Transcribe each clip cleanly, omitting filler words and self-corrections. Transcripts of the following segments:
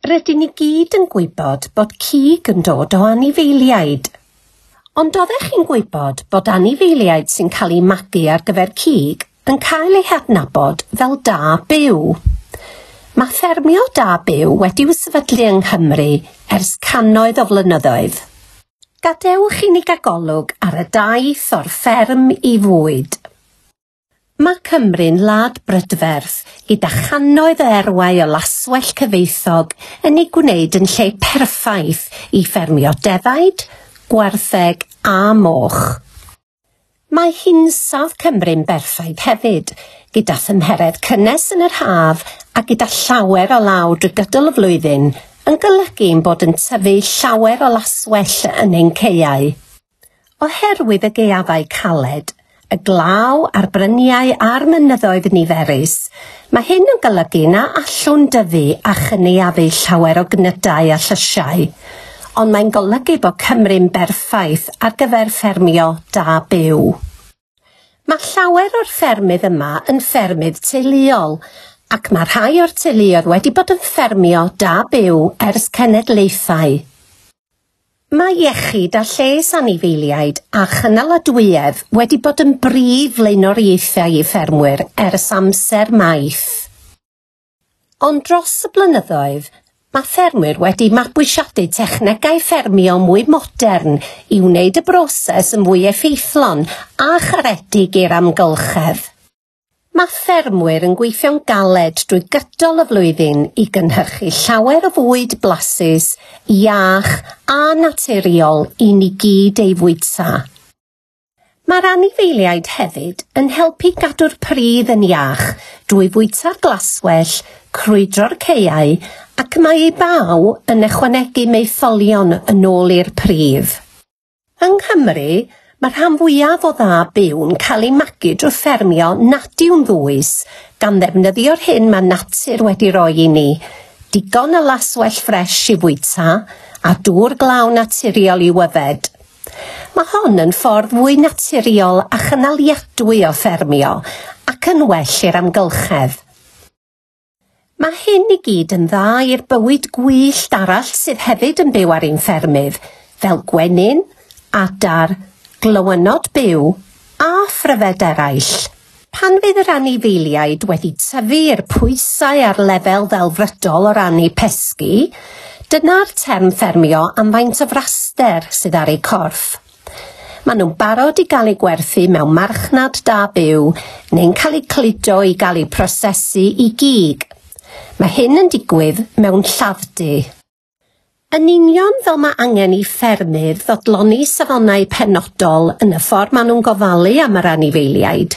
Rydyn ni gyd yn gwybod bod cig yn dod o anifeiliaid. Ond oeddech chi'n gwybod bod anifeiliaid sy'n cael eu magu ar gyfer cig yn cael eu hadnabod fel da byw? Mae ffermio da byw wedi'w sefydlu yng Nghymru ers cannoedd o flynyddoedd. Gadewch i ni gael golwg ar y daith o'r fferm i fwyd. Mae Cymru'n wlad brydferth gyda channoedd o erwau o laswellt cyfoethog yn ei gwneud yn lle perffaith i ffermio defaid, gwartheg a moch. Mae hinsawdd Cymru'n berffaith hefyd, gyda thymheredd cynnes yn yr haf a gyda llawer o law drwy gydol y flwyddyn, yn golygu ein bod yn tyfu llawer o laswellt yn ein caeau. Oherwydd y gaeafau caled, y glaw a'r bryniau a'r mynyddoedd niferus, mae hyn yn golygu na allwn dyfu a chynaeafu llawer o gnydau a llysiau, ond mae'n golygu bod Cymru'n berffaith ar gyfer ffermio da byw. Mae llawer o'r ffermydd yma yn ffermydd teuluol, ac mae rhai o'r teuluoedd wedi bod yn ffermio da byw ers cenedlaethau. Mae iechyd a lles anifeiliaid a chynaladwyedd wedi bod yn brif flaenoriaethau i ffermwyr ers amser maith. Ond dros y blynyddoedd, mae ffermwyr wedi mabwysiadu technegau ffermio mwy modern i wneud y broses yn fwy effeithlon a charedig i'r amgylchedd. Mae ffermwyr yn gweithio'n galed drwy gydol y flwyddyn i gynhyrchu llawer o fwyd blasus, iach a naturiol i ni gyd ei fwyta. Mae'r anifeiliaid hefyd yn helpu gadw'r pridd yn iach drwy fwyta'r glaswellt, crwydro'r caeau ac mae eu baw yn ychwanegu maetholion yn ôl i'r pridd. Yng Nghymru, mae'r rhan fwyaf o dda byw'n cael ei magu drwy ffermio nad yw'n ddwys, gan ddefnyddio'r hyn mae natur wedi roi i ni, digon o laswellt ffres i fwyta a dŵr glaw naturiol i'w yfed. Mae hon yn ffordd fwy naturiol a chynaliadwy o ffermio ac yn well i'r amgylchedd. Mae hyn i gyd yn dda i'r bywyd gwyllt arall sydd hefyd yn byw ar ein ffermydd, fel gwenyn, adar, glywynod byw a phryfed eraill. Pan fydd yr anifeiliaid wedi tyfu i'r pwysau a'r lefel ddelfrydol o ran eu pesgi, dyna'r term ffermio am faint o fraster sydd ar eu corff. Maen nhw'n barod i gael eu gwerthu mewn marchnad da byw neu'n cael eu cludo i gael eu prosesu i gig. Mae hyn yn digwydd mewn lladd-dy. Yn union fel mae angen i ffermydd fodloni safonau penodol yn y ffordd maen nhw'n gofalu am yr anifeiliaid,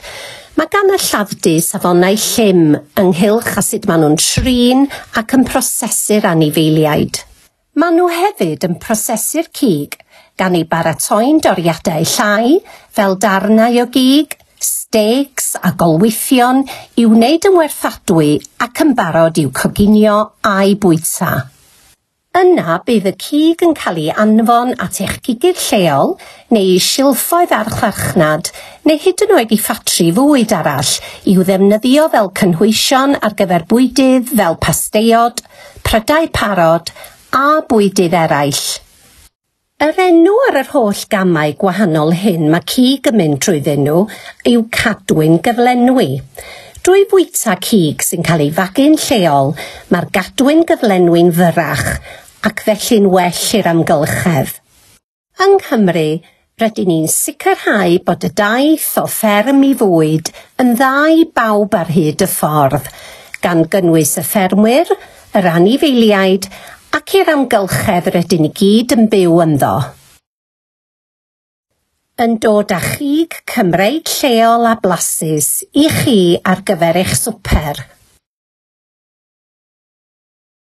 mae gan y lladd-dy safonau llym ynghylch â sut maen nhw'n trin ac yn prosesu'r anifeiliaid. Maen nhw hefyd yn prosesu'r cig, gan ei baratoi'n doriadau llai, fel darnau o gig, steaks a golwythion i'w wneud yn werthadwy ac yn barod i'w coginio a'u bwyta. Yna bydd y cig yn cael ei anfon at eich cigydd lleol neu i silffoedd archfarchnad neu hyd yn oed i ffatri fwyd arall i'w ddefnyddio fel cynhwysion ar gyfer bwydydd fel pasteiod, prydau parod a bwydydd eraill. Yr enw ar yr holl gamau gwahanol hyn mae cig yn mynd trwyddyn nhw yw cadwyn gyflenwi. Drwy fwyta cig sy'n cael ei fagu'n lleol, mae'r gadwyn gyflenwi'n fyrrach ac felly'n well i'r amgylchedd. Yng Nghymru, rydyn ni'n sicrhau bod y daith o fferm i fwyd yn dda i bawb ar hyd y ffordd, gan gynnwys y ffermwyr, yr anifeiliaid ac i'r amgylchedd rydyn ni gyd yn byw ynddo. Yn dod â chig Cymreig lleol a blasus i chi ar gyfer eich swper.